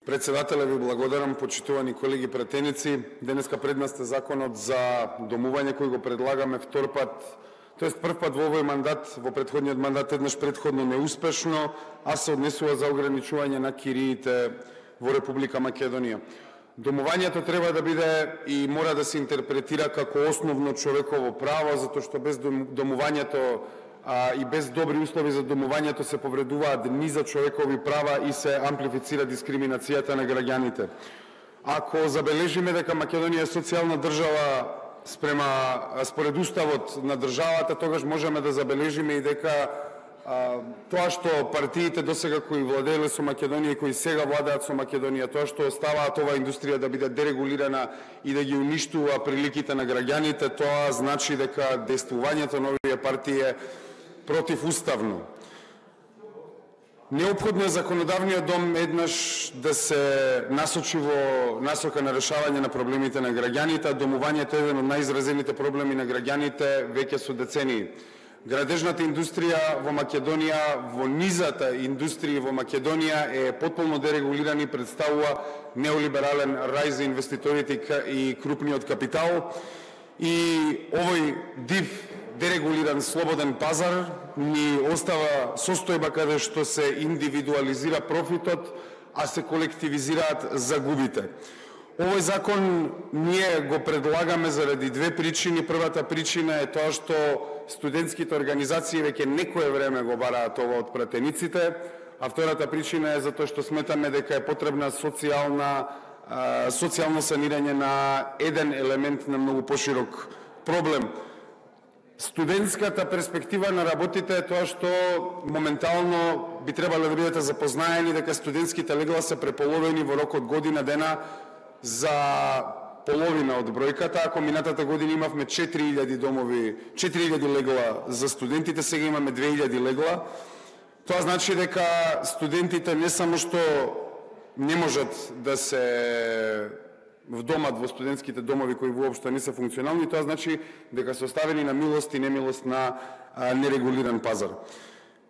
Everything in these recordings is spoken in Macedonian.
Председателе, ви благодарам, почитувани колеги пратеници. Денеска пред нас е законот за домување кој го предлагаме втор пат, тоест прв пат во овој мандат, во претходниот мандат еднаш предходно неуспешно, а се однесува за ограничување на кириите во Република Македонија. Домувањето треба да биде и мора да се интерпретира како основно човеково право, затоа што без домувањето и без добри услови за домувањето се повредуваат низа човекови права и се амплифицира дискриминацијата на граѓаните. Ако забележиме дека Македонија е социјална држава според уставот на државата, тогаш можеме да забележиме и дека тоа што партиите досега кои владееле со Македонија и кои сега владеат со Македонија, тоа што оставаат оваа индустрија да биде дерегулирана и да ги уништува приликите на граѓаните, тоа значи дека действувањето на овие партии е противуставно. Неопходно е законодавниот дом еднаш да се насочи во насока на решавање на проблемите на граѓаните. Домувањето е еден од најизразените проблеми на граѓаните веќе со децении. Градежната индустрија во Македонија, во низата индустрија во Македонија е потполно дерегулирана и представува неолиберален рај за инвеститорите и крупниот капитал. И овој див дерегулиран слободен пазар ни остава состојба каде што се индивидуализира профитот, а се колективизираат загубите. Овој закон ние го предлагаме заради две причини. Првата причина е тоа што студентските организации веќе некое време го бараат ова од пратениците, а втората причина е затоа што сметаме дека е потребна социјално санирање на еден елемент на многу поширок проблем. Студентската перспектива на работите е тоа што моментално би требало да бидете запознаени дека студентските легла се преполовени во рок од година дена за половина од бројката. Ако минатата година имавме 4000 легла за студентите, сега имаме 2000 легла. Тоа значи дека студентите не само што не можат да се вдомат во студентските домови кои воопшто не се функционални, тоа значи дека се оставени на милост и немилост на нерегулиран пазар.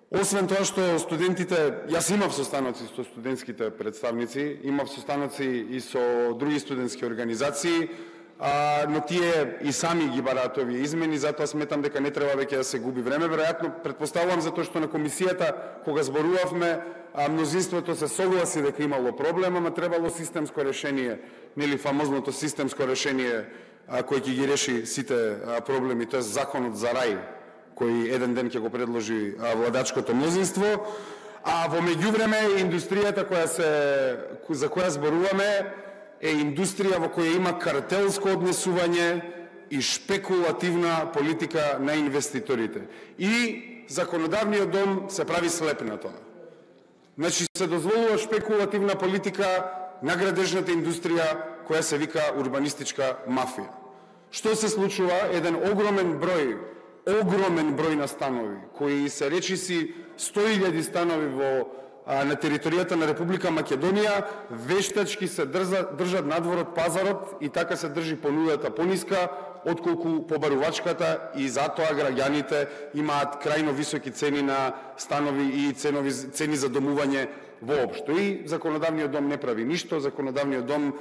Освен тоа што студентите, јас имав состаноци со студентските представници, имав состаноци и со други студентски организации, но тие и сами ги бараат овие измени, затоа сметам дека не треба веќе да се губи време. Веројатно, претпоставувам затоа што на комисијата, кога зборувавме, мнозинството се согласи дека имало проблем, ама требало системско решение, нели фамозното системско решение кој ќе ги реши сите проблеми, тоа е законот за рај, кој еден ден ќе го предложи владачкото мнозинство. А во меѓувреме индустријата за која зборуваме е индустрија во која има картелско однесување и шпекулативна политика на инвеститорите. И законодавниот дом се прави слеп на тоа. Значи се дозволува шпекулативна политика на градежната индустрија која се вика урбанистичка мафија. Што се случува? Еден огромен број на станови, кои се речиси 100.000 станови на територијата на Република Македонија, вештачки се држат надвор од пазарот и така се држи понудата пониска отколку побарувачката, и затоа граѓаните имаат крајно високи цени на станови и цени за домување воопшто. И законодавниот дом не прави ништо, законодавниот дом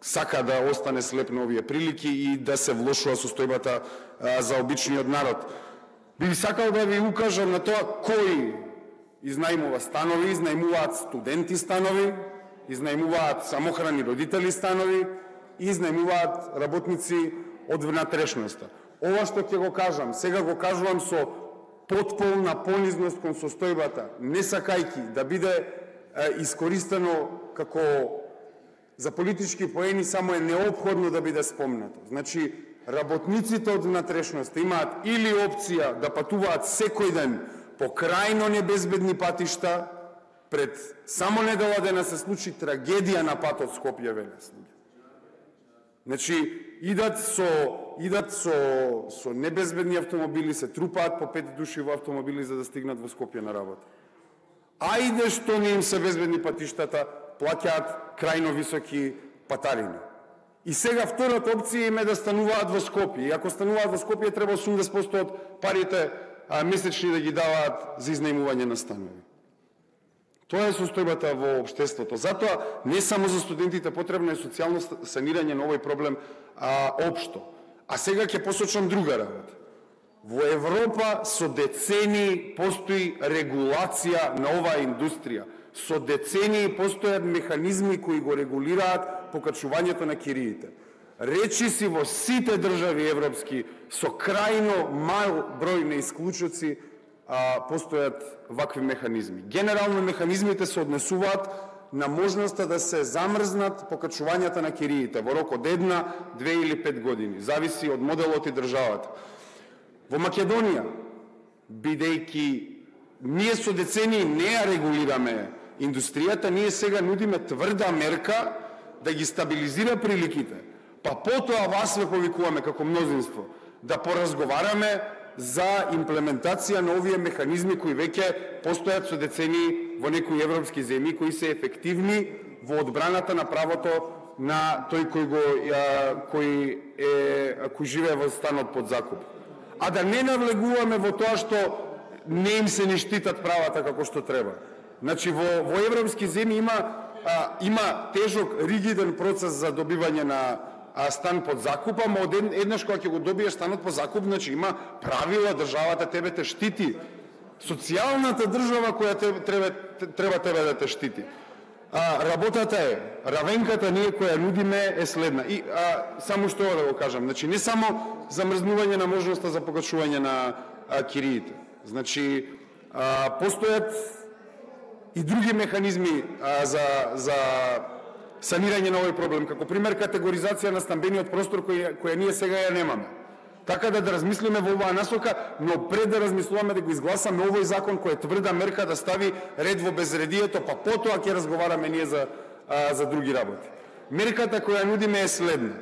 сака да остане слеп на овие прилики и да се влошува состојбата за обичниот народ. Би сакал да ви укажам на тоа кои изнајмува станови, изнајмуваат студенти станови, изнајмуваат самохрани родители станови, изнајмуваат работници од внатрешноста. Ова што ќе го кажам, сега го кажувам со потполна понизност кон состојбата, не сакајки да биде искористено како за политички поени, само е неопходно да биде спомнато. Значи, работниците од внатрешноста имаат или опција да патуваат секој ден по крајно небезбедни патишта, пред само недела дена се случи трагедија на патот Скопје-Велес. Значи, идат со небезбедни автомобили, се трупаат по 5 души во автомобили за да стигнат во Скопје на работа. Ајде што не им се безбедни патиштата, плаќаат крајно високи патарини. И сега втората опција им е да стануваат во Скопје. И ако стануваат во Скопје, треба 80% од парите месечни да ги даваат за изнајмување на станови. Тоа е состојбата во општеството. Затоа не само за студентите потребно е социјално санирање на овој проблем општо. А сега ќе посочам друга работа. Во Европа со децении постои регулација на оваа индустрија. Со децении постојат механизми кои го регулираат покачувањето на кириите. Речиси во сите држави европски со крајно мал број на исклучоци постојат вакви механизми. Генерално механизмите се однесуваат на можноста да се замрзнат покачувањата на кириите во рок од 1, 2 или 5 години, зависи од моделот и државата. Во Македонија, бидејќи ние со децении не ја регулираме индустријата, ние сега нудиме тврда мерка да ги стабилизира приликите, па потоа вас ве повикуваме како мнозинство да поразговараме за имплементација на овие механизми кои веќе постојат со децении во некои европски земји, кои се ефективни во одбраната на правото на тој кој живее во станот под закуп. А да не навлегуваме во тоа што не им се ни штитат правата како што треба. Значи во европски земји има тежок, ригиден процес за добивање на стан под закуп, ама еднаш кога ќе го добиеш станот под закуп, значи има правила, државата тебе те штити. Социјалната држава која треба тебе да те штити. Работата е, равенката ние која нудиме е следна. И само што да го кажам, значи не само замрзнување на можноста за покачување на кириите. Значи постојат и други механизми за санирање на овој проблем, како пример категоризација на стамбениот простор која ние сега ја немаме. Така да размислиме во оваа насока, но пред да размислуваме да го изгласаме овој закон кој е тврда мерка да стави ред во безредието, па потоа ќе разговараме ние за други работи. Мерката која нудиме е следна.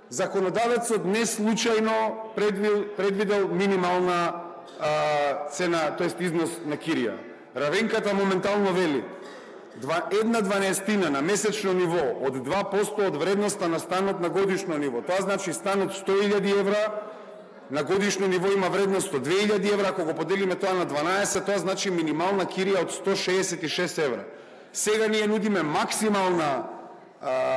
Законодавецот не случајно предвидел минимална цена, тоест износ на кирија. Равенката моментално вели 1/12 на месечно ниво од 2% од вредноста на станот на годишно ниво. Тоа значи станот 100.000 евра, на годишно ниво има вредност од 2.000 евра, ако го поделиме тоа на 12, тоа значи минимална кирија од 166 евра. Сега ние нудиме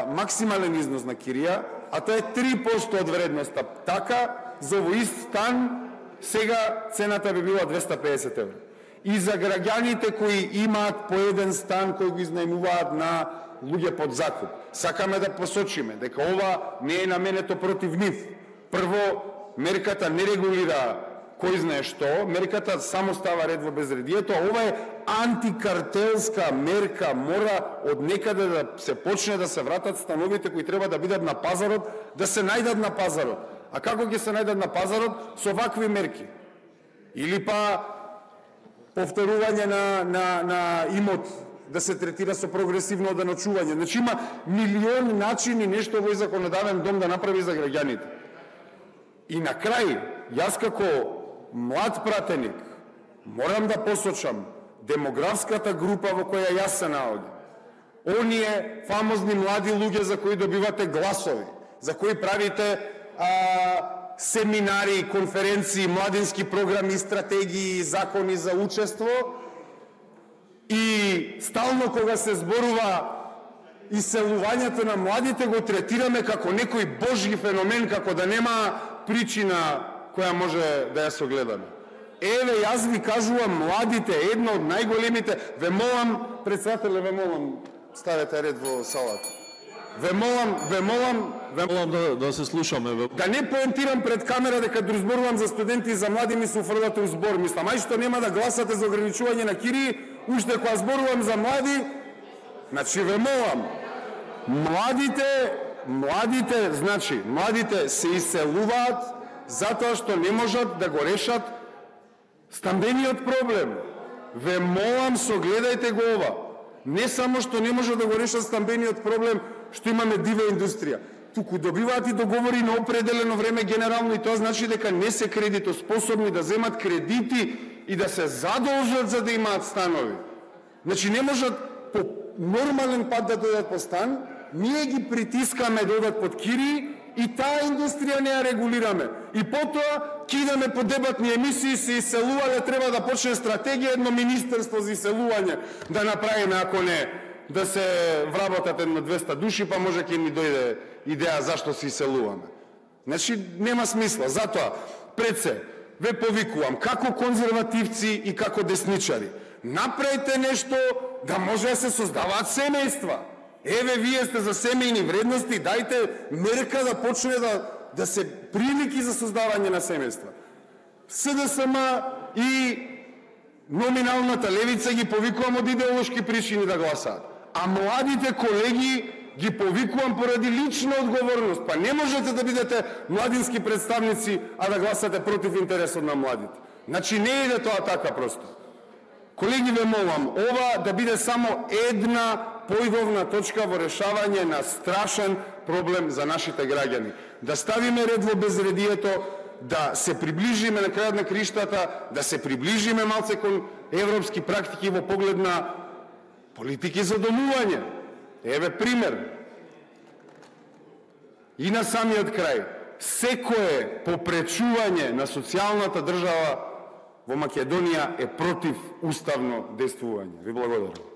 максимален износ на кирија, а тоа е 3% од вредноста. Така, за овој ист стан, сега цената би била 250 евра. И за граѓаните кои имаат по еден стан кој го изнајмуваат на луѓе под закуп. Сакаме да посочиме дека ова не е наменето против нив. Прво, мерката не регулира кој знае што, мерката само става ред во безредието, а ова е антикартелска мерка, мора од некаде да се почне да се вратат становите кои треба да бидат на пазарот, да се најдат на пазарот. А како ќе се најдат на пазарот? Со вакви мерки. Или па повторување на имот да се третира со прогресивно оденачување. Значи има милион начини нешто овој законодавен дом да направи за граѓаните. И на крај, јас како млад пратеник морам да посочам демографската група во која јас се наоѓам. Оние фамозни млади луѓе за кои добивате гласови, за кои правите семинари, конференции, младински програми, стратегии, закони за учество, и стално кога се зборува иселувањето на младите го третираме како некој божји феномен, како да нема причина која може да ја согледаме. Еве, јас ви кажувам, младите, едно од најголемите, ве молам, председателе, ве молам, ставете ред во салата. Ве молам да се слушаме. Да не поентирам пред камера дека зборувам за студенти и за млади ми се уфрлате у збор. Мислам, ај што нема да гласате за ограничување на кирии, уште кога зборувам за млади, значи ве молам, младите се иселуваат затоа што не можат да го решат стамбениот проблем. Ве молам, согледајте го ова. Не само што не можат да го решат стамбениот проблем, што имаме дива индустрија, туку добиваат и договори на определено време генерално, и тоа значи дека не се кредитоспособни да земат кредити и да се задолжат за да имаат станови. Значи не можат по нормален пат да дојдат по стан, ние ги притискаме да одат под кири и таа индустрија не ја регулираме. И потоа кидаме по дебатни емисии, се иселувале, треба да почне стратегија, едно министерство за иселување да направиме, ако не, да се вработат едно 200 души, па може ќе ни дојде идеја зашто се иселуваме. Значи, нема смисла. Затоа, пред се, ве повикувам, како конзервативци и како десничари, направите нешто да може да се создаваат семејства. Еве, вие сте за семејни вредности, дајте мерка да почне да се прилики за создавање на семејства. СДСМ и номиналната левица ги повикувам од идеолошки причини да гласаат. А младите колеги ги повикувам поради лична одговорност. Па не можете да бидете младински представници, а да гласате против интересот на младите. Значи не иде тоа така просто. Колеги, ве молам, ова да биде само една појдовна точка во решавање на страшен проблем за нашите граѓани. Да ставиме ред во безредието, да се приближиме на крајот на криштата, да се приближиме малце кон европски практики во поглед на политики за домување. Еве пример. И на самиот крај, секое попречување на социјалната држава во Македонија е против уставно действување. Ви благодарам.